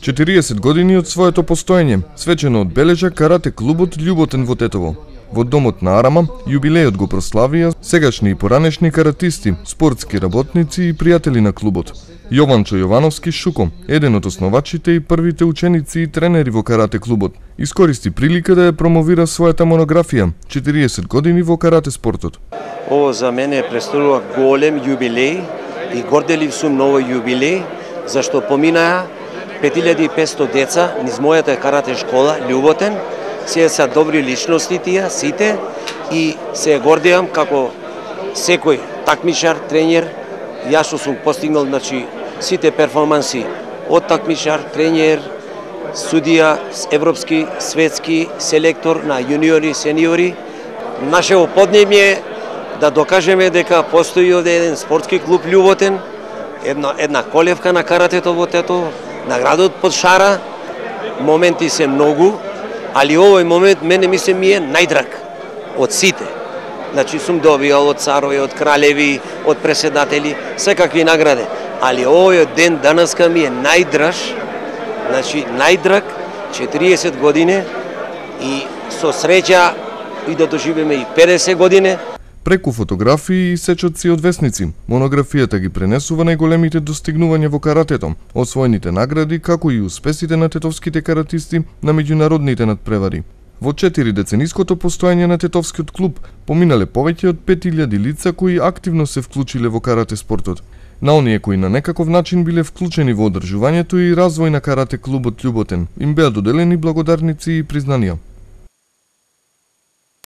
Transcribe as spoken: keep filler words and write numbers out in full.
четириесет години од своето постоење свечено одбележа карате клубот Љуботен во Тетово. Во домот на Арама јубилејот го прославија сегашни и поранешни каратисти, спортски работници и пријатели на клубот. Јованчо Јовановски Шуко, еден од основачите и првите ученици и тренери во карате клубот, искористи прилика да ја промовира својата монографија четириесет години во карате спортот. Ово за мене представува голем јубилеј и горделив сум на овој јубилеј, зашто поминаа пет илјади и петстотини деца низ мојата карате школа Љуботен. Се са добри личности тие сите и се гордеам како секој такмичар, тренер. Јас што сум постигнал, значи, сите перформанси од такмичар, тренер, судија, европски, светски, селектор на јуниори, сениори. Нашето поднебје да докажеме дека постои еден спортски клуб Љуботен, една една колевка на каратето во Тетово, наградот под шара. Моменти се многу, али овој момент мене ми се ми е најдраг од сите. Значи сум добиал од царови, од кралеви, од преседатели, секакви награди. Али овој ден данаска ми е најдраж, значи најдраг, четириесет години и со среќа и да доживеме и педесет години. Преку фотографии и сечоци од весници, монографијата ги пренесува најголемите достигнувања во каратето, освоените награди, како и успесите на тетовските каратисти на меѓународните надпревари. Во четири децениското постоење на тетовскиот клуб поминале повеќе од пет илјади лица кои активно се вклучиле во карате спортот. На оние кои на некаков начин биле вклучени во одржувањето и развој на карате клубот Љуботен им беа доделени благодарници и признанија.